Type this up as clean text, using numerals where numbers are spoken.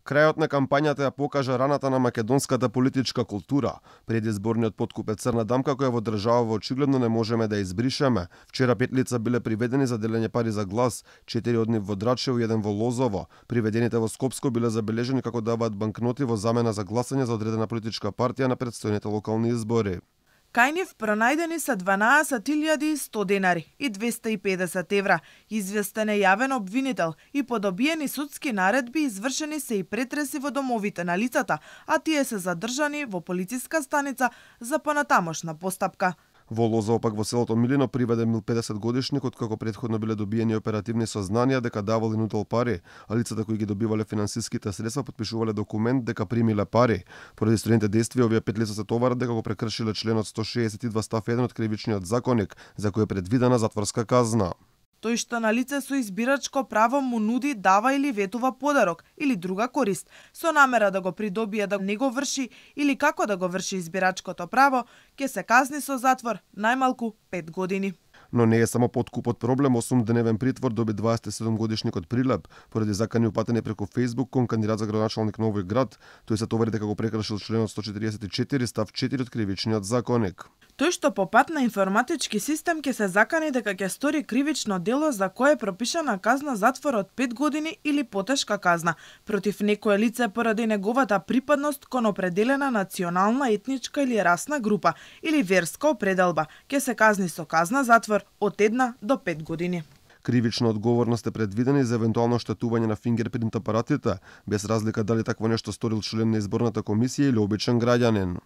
Крајот на кампањата ја покажа раната на македонската политичка култура. Предизборниот подкуп е црна дамка која во држава очигледно не можеме да избришеме. Вчера 5 лица биле приведени за делење пари за глас, 4 од нив во Драчево и 1 во Лозово. Приведените во Скопско биле забележени како даваат банкноти во замена за гласање за одредена политичка партија на претстојните локални избори. Кај нив пронајдени се 12.100 денари и 250 евра. Известен е јавен обвинител и по добиени судски наредби извршени се и претреси во домовите на лицата, а тие се задржани во полициска станица за понатамошна постапка. Во Лозово пак во селото Милино приведен 50 годишник откако претходно биле добиени оперативни сознанија дека давал и нудел пари, а лицата кои ги добивале финансиските средства потпишувале документ дека примиле пари. Поради строените действија овие 5 лица се товарат дека го прекршиле членот 162 став 1 од кривичниот законник, за кој е предвидена затворска казна. Тој што на лице со избирачко право му нуди, дава или ветува подарок или друга корист, со намера да го придобие да не го врши или како да го врши избирачкото право, ќе се казни со затвор најмалку 5 години. Но не е само подкупот проблем, 8-дневен притвор доби 27 годишникот Прилеп поради закани упатени преку Facebook кон кандидат за градоначалник на овој град. Тој се товари дека го прекршил членот 144 став 4 од кривичниот законник. Тој што по пат на информатички систем ќе се закани дека ќе стори кривично дело за кое е пропишана казна затвор од 5 години или потешка казна против некое лице поради неговата припадност кон определена национална, етничка или расна група или верска определба, ќе се казни со казна затвор од 1 до 5 години. Кривична одговорност е предвидена и за евентуално штетување на фингерпринт апаратите, без разлика дали такво нешто сторил член на изборната комисија или обичен граѓанин.